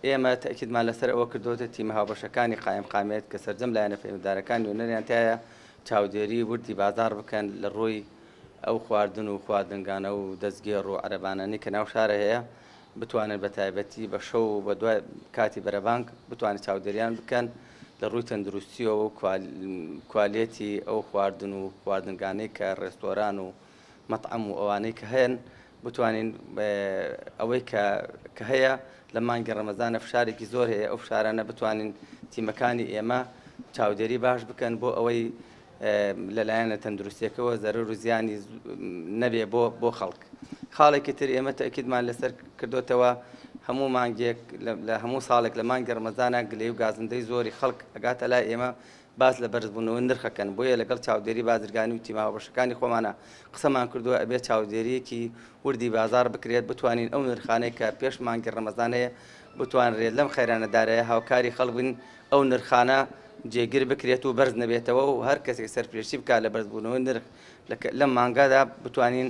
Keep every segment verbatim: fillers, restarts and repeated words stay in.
ئێمە تەئکیدمان لەسەر ئەوە کردووەتە تیمە هاوبەشەکانی قایمقامیەت کە سەرجەم لایەنە پەیوەندیدارەکان نوێنەریان تایە چاودێری وردی بازاڕ بکەن لە ڕووی ئەو خواردن و خواردنگانە و دەستگێڕ و عەرەبانانەی کە ناو شارە هەیە بتوانن بە تایبەتی بە شەو و بە دوای کاتی بەرەبانگ بتوانن چاودێریان بکەن لە ڕووی تەندروستیەوە و کوالێتی ئەو خواردن و خواردنگانەی کە ڕێستۆران و مەطعەم و ئەوانەی کە هەن بتوانین ئەوەی کە هەیە لە مانگی ڕەمەزانە فشارێکی زۆر هەیە، ئەو فشارانە بتوانین تیمەکانی ئێمە چاودێری باش بکەن بۆ ئەوەی لەلایەنە تەندروستیەکەوە زەرەر و زیانی نەبێ بۆ بۆ خەڵک. خاڵێکی تر ئێمە تەئکیدمان لەسەر کردوتەوە هەموو مانگێک لە هەموو ساڵێک لە مانگی ڕەمەزانە گلەی و گازندەی زۆری خەڵک ئەگاتە لای ئێمە باس لە بەرزبوونەوەی نرخەکەن، بۆیە لەگەڵ چاودێری بازرگانی و تیمە هاوبەشەکانی خۆمانە قسەمان کردووە ئەبێت چاودێریەکی وردی بازار بکرێت، بتوانین ئەو نرخانەی کە پێش مانگی ڕەمەزان هەیە بتوانرێت لەم خەیرانەدارەیە هاوکاری خەڵک بن ئەو نرخانە جێگیر بکرێت و بەرز نەبێتەوە و هەر کەسێک سەرپێشی بکات لە بەرزبوونەوەی نرخ لەم مانگادا بتوانین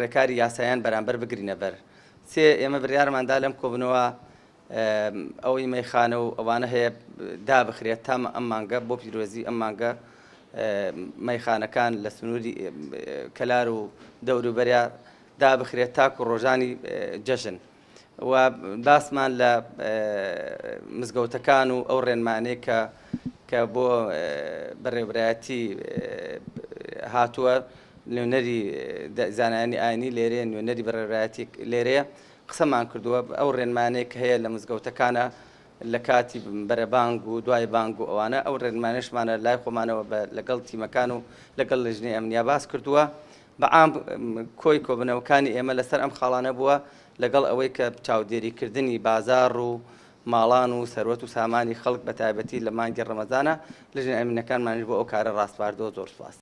ڕێکاری یاسایان بەرامبەر بگرینە بەر. سێ، ئێمە بڕیارماندا لەم کۆبنەوە ئەوەی مەیخانە و ئەوانە هەیە دابخرێت تا ئەم مانگە بۆ پیرۆزی ئەم مانگە مەیخانەکان لە سنووری کەلار و دەوروبەریا دابخرێت تاکو ڕۆژانی جەژن. و باسمان لە مزگەوتەکان و ئەو ڕێنمانەی کە کە بۆ بەڕێوەبەرایەتی هاتووە، نوێنەری زانایانی ئاینی لێرەیە، نوێنەری بەڕێوەبەرایەتی لێرەیە، قسەمان کردووە ئەو ڕێنمانەیە کە هەیە لە مزگەوتەکانە لە کاتی بەرەبانگ و دوای بانگ و ئەوانە، ئەو ڕێنمانەشمانە لای خۆمانەوە لەگەڵ تیمەکان و لەگەڵ لژنەی ئەمنیا باس کردووە. بەعام کۆی کۆبنەوەکانی ئێمە لەسەر ئەم خاڵانە بووە، لەگەڵ ئەوەی کە چاودێریکردنی بازاڕ و ماڵان و سەروەت و سامانی خەڵک بە تایبەتی لە مانگی ڕەمەزانە لژنە ئەمنەکانمانیش بۆ ئەو کارە ڕاسپاردەوە. زۆر سوپاس.